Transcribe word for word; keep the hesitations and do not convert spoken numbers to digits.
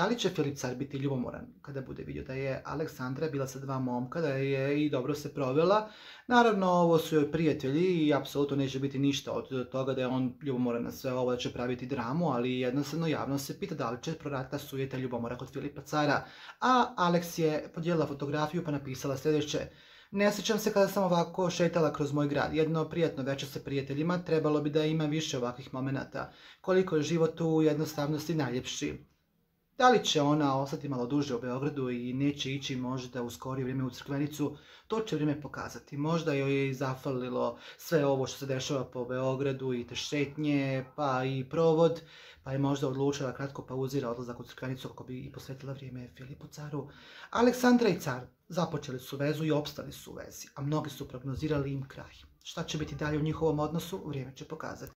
Da li će Filip car biti ljubomoran kada bude vidio da je Aleksandra bila sa dva momka, da je i dobro se provela? Naravno, ovo su joj prijatelji i apsolutno neće biti ništa od toga da je on ljubomoran na sve ovo, da će praviti dramu, ali jednostavno javno se pita da li će proraditi sujeta ljubomora kod Filipa cara. A Aleks je podijelila fotografiju pa napisala sljedeće: ne sjećam se kada sam ovako šetala kroz moj grad. Jedno prijatno večer sa prijateljima, trebalo bi da ima više ovakvih momenata. Koliko je život u jednostavnosti najljepši. Da li će ona ostati malo duže u Beogradu i neće ići možda u skorije vrijeme u Crkvenicu, to će vrijeme pokazati. Možda joj je i zafalilo sve ovo što se dešava po Beogradu i te šetnje, pa i provod, pa je možda odlučila kratko pauzira odlazak u Crkvenicu kako bi i posvetila vrijeme Filipu caru. Aleksandra i car započeli su vezu i opstali su u vezi, a mnogi su prognozirali im kraj. Šta će biti dalje u njihovom odnosu, vrijeme će pokazati.